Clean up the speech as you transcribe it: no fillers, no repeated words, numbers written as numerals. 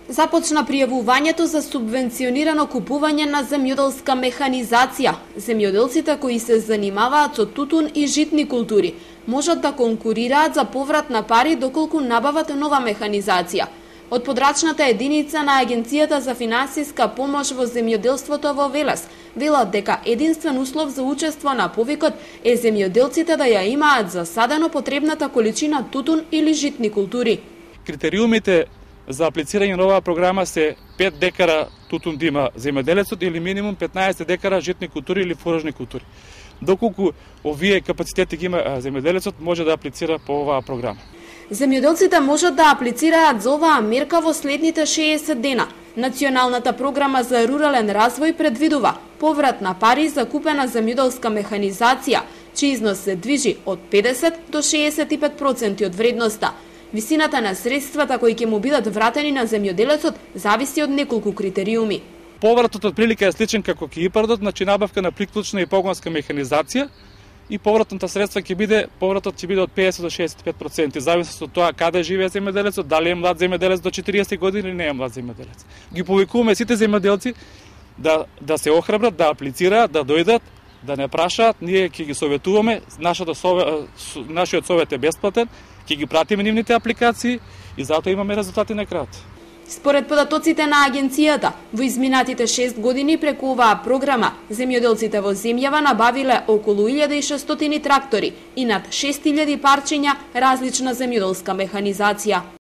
Започна пријавувањето за субвенционирано купување на земјоделска механизација. Земјоделците кои се занимаваат со тутун и житни култури можат да конкурираат за поврат на пари доколку набават нова механизација. Од подрачната единица на Агенцијата за финансиска помош во земјоделството во Велес велат дека единствен услов за учество на повикот е земјоделците да ја имаат засадено потребната количина тутун или житни култури. Критериумите за аплицирање на оваа програма се 5 декара тутун да има земјоделецот или минимум 15 декара житни култури или фуражни култури. Доколку овие капацитети ги има земјоделецот, може да аплицира по оваа програма. Земјоделците можат да аплицираат за оваа мерка во следните 60 дена. Националната програма за рурален развој предвидува поврат на пари за купена земјоделска механизација, чиј износ се движи од 50 до 65% од вредноста. Висината на средствата кои ќе му бидат вратени на земјоделецот зависи од неколку критериуми. Повратот од прилика е сличен како ке ИПАРДот, значи набавка на приклучна и погонска механизација, и повратната средства повратот ќе биде од 50 до 65%, зависи од тоа каде живее земјоделецот, дали е млад земјоделец до 40 години или не е млад земјоделец. Ги повикуваме сите земјоделци да се охрабрат, да аплицираат, да дојдат, да не прашаат, ние ќе ги советуваме, нашиот совет е бесплатен, ќе ги пратиме нивните апликации и затоа имаме резултати на крајот. Според податоците на агенцијата, во изминатите 6 години преку оваа програма, земјоделците во земјава набавиле околу 1600 трактори и над 6000 парчиња различна земјоделска механизација.